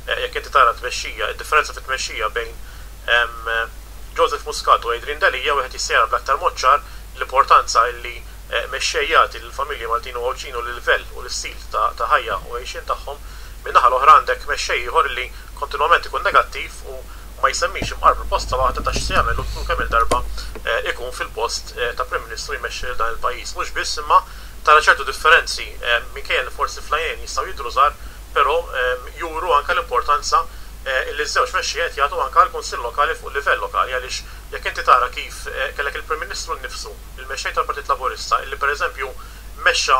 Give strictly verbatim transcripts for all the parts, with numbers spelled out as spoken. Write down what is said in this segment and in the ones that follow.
Jekk inti tara tmexxija, id-differenza fit-tmexxija bejn Joseph Muscat u Adrian Delia, wieħed jista' jara bl-aktar mod ċar l-importanza illi mexxej jagħti lill-familji Maltin u Għawdxin u l-livell u l-istil ta' ħajja u għejxien tagħhom. Min-naħa l-oħra għandek mexxej ieħor li kontinwament ikun negattiv u ma jsemmix imqar proposta waħda ta' x'se jagħmel u kemm il-darba ikun fil-post ta' Prim Ministru jmexxi lil dan il-pajjiż. Mhux biss, imma tara ċertu differenzi, minkejja li forsi fl-għajnejn jistgħu jidhru żgħar, però juru anke l-importanza illi ż-żewġ mexxejja qed jagħtu anke għall-Kunsill Lokali fuq livell lokali, għaliex jekk inti tara kif kellek il-Prim Ministru nnifsu, il-mexxej tal-Partit Laburista, illi pereżempju mexxa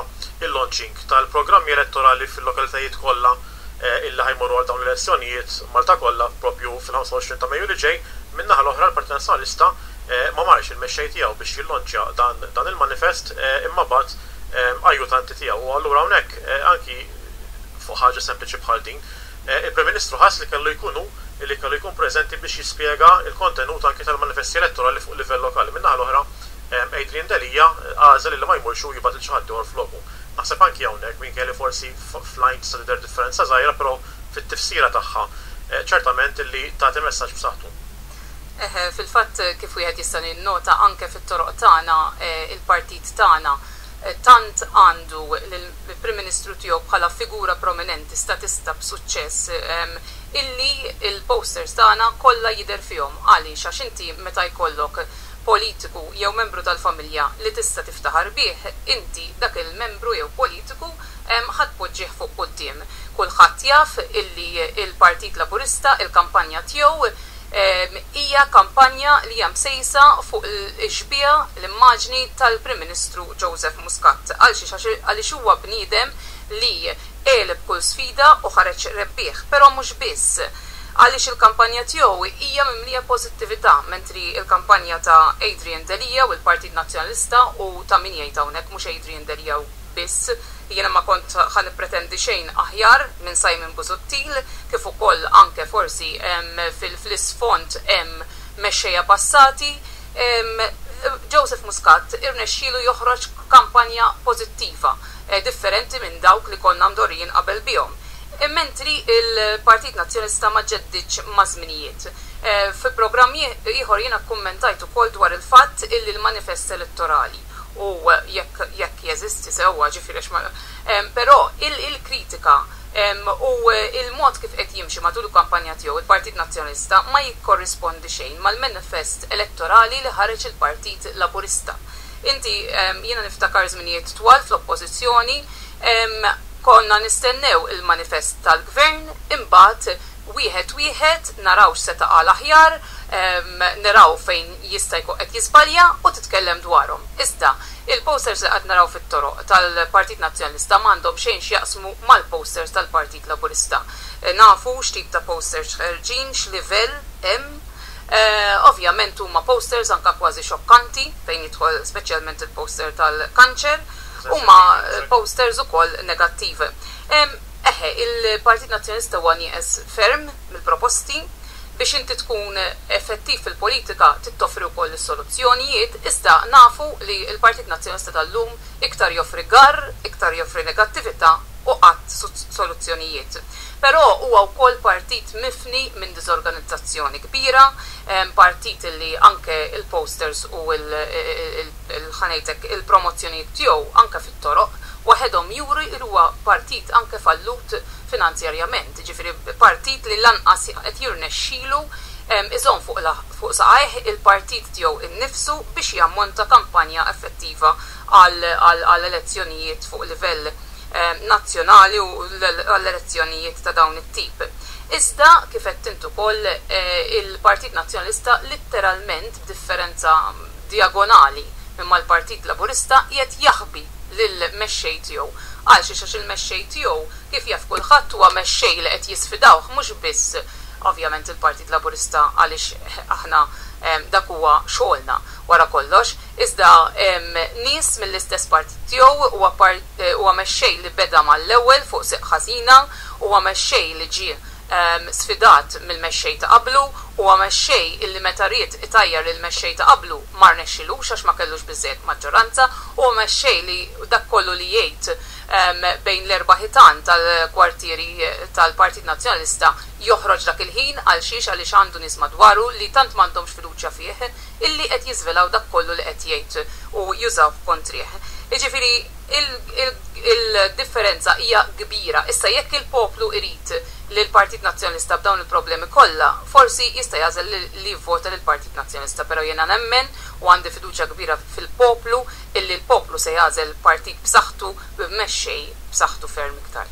il-launching tal-programmi elettorali fil-lokalitajiet kollha illi ħa jmorru għal dawn l-elezzjonijiet Malta kollha propju fil-ħamsa u għoxrin ta' Mejju li ġej, min-naħa l-oħra l-Partit Nazzjonalista ma marx il-mexxej tiegħu biex jillonċja dan, dan il-manifest, imma bagħat ajjutanti tiegħu. U allura hawnhekk, anki fuq ħaġa sempliċi bħal din, il-Prim Ministru ħass li kellu jkunu li kellu jkun preżenti biex jispjega il-kontenut anki tal-manifesti elettorali fuq livell lokali. Min-naħa l-oħra Adrian Delia għażel li ma jmurx u jibgħat lil xi ħadd ieħor floku. Naħseb anki hawnhekk, minkejja li forsi fl-għajn tista' tidher differenza żgħira, però fit-tifsira tagħha ċertament li tagħti messaġġ b'saħħtu. Eħe, fil-fatt, kif wieħed jista' jinnota anke fit-toroq tagħna, il-partit tagħna tant għandu l-Prim Ministru tiegħu bħala figura prominenti, statista b'suċċess, illi il-posters tagħna kollha jidher fihom. Għaliex? Għax inti meta jkollok politiku jew membru tal-familja li tista' tiftaħar bih, inti dak il-membru jew politiku ħa tpoġġih fuq quddiem. Kulħadd jaf illi il-Partit Laburista, il-kampanja tiegħu hija kampanja li hija msejsa fuq il-xbieha, l-immaġni tal-Prim Ministru Joseph Muscat. Għalxiex? Għaliex huwa bniedem li għeleb kull sfida u ħareġ rebbieħ, però mhux biss, għaliex il-kampanja tiegħu hija mimlija pożittività, mentri il-kampanja ta' Adrian Delia u l-Partit Nazzjonalista, u ta' min jgħid hawnhekk mhux Adrian Delia biss, jiena ma kont ħa nippretendi xejn aħjar minn Simon Busuttil, kif ukoll anke forsi fil-isfond hemm mexxejja passati. Joseph Muscat irnexxielu joħroġ kampanja pożittiva, differenti minn dawk li konna mdorrijin qabel bihom. Mentri il-Partit Nazzjonalista ma ġeddiċ ma' żminijiet. Fi programm ieħor jiena kkummentajt ukoll dwar il-fatt illi l-manifest elettorali, u jekk jekk jeżisti sewwa, ġifieri, però il-kritika u il-mod kif qed jimxi matul il-kampanja tiegħu il-Partit Nazzjonalista ma jikkorrispondi xejn mal-manifest elettorali li ħareġ il-Partit Laburista. Inti, jiena niftakar żminijiet twal fl-oppożizzjoni, konna nistennew il-manifest tal-gvern, imbagħad wieħed wieħed naraw x'seta' qal aħjar, naraw fejn jista' jkun qed jiżbalja u titkellem dwarhom. Iżda il-posters li qed naraw fit-toroq tal-Partit Nazzjonalista m'għandhom xejn x'jaqsmu mal-posters tal-Partit Laburista. Nafu x'tip ta' posters ħerġin, x'livell hemm. Ovvjament huma posters anka kważi xokkanti fejn jidħol speċjalment il-poster tal-kanċer, huma posters ukoll negattiv. Eħe, il-Partit Nazzjonalista huwa nieqes ferm mill-proposti. Biex inti tkun effettiv fil-politika trid toffri wkoll is-soluzzjonijiet, iżda nafu li l-Partit Nazzjonalista tal-lum iktar joffri gar, iktar joffri negattività u qatt soluzzjonijiet. Però huwa wkoll partit mifni minn diżorganizzazzjoni kbira, partit li anke il-posters u ħa ngħidlek il-promozzjonijiet tiegħu anke fit-toroq waħedhom juru li huwa partit anke fallut finanzjarjament, ġifieri partit li lanqas qed jirnexxilu iżomm fuq fuq saqajh il-partit tiegħu innifsu biex jammonta kampanja effettiva għall elezzjonijiet fuq livell nazzjonali u għall-elezzjonijiet ta' dawn it-tip. Iżda kif qed int ukoll, il-Partit Nazzjonalista litteralment, b'differenza diagonali minn mal-Partit Laburista, qiegħed jaħbi lill-mexxej tiegħu. Għalxiex? Għax il-mexxej tiegħu, kif jaf kulħadd, huwa mexxej li qed jisfidawh mhux biss ovvjament il-Partit Laburista, għaliex aħna dak huwa xogħolna wara kollox, iżda nies mill-istess partit tiegħu. Huwa huwa mexxej li beda mal-ewwel fuq siq ħażina, huwa mexxej li ġie sfidat mill-mexxej ta' qablu, huwa mexxej illi meta ried itajjar il-mexxej ta' qablu ma rnexxilux għax ma kellux biżejjed maġġoranza, huwa mexxej li dak kollu li jgħid bejn l-erba' ħitan tal-kwartieri tal-Partit Nazzjonalista joħroġ dak il-ħin. Għal xiex? Għaliex għandu nies madwaru li tant m'għandhomx fiduċja fih illi qed jiżvelaw dak kollu li qed jgħid u jużaw kontrih. Jiġifieri il-differenza hija kbira. Issa, jekk il-poplu irid li l-Partit Nazzjonalista b'dawn il-problemi kollha, forsi jista' jagħżel li jivvota lill-Partit Nazzjonalista, però jiena nemmen u għandi fiduċja kbira fil-poplu illi l-poplu se jagħżel partit b'saħħtu, b'mexxej b'saħħtu ferm iktar.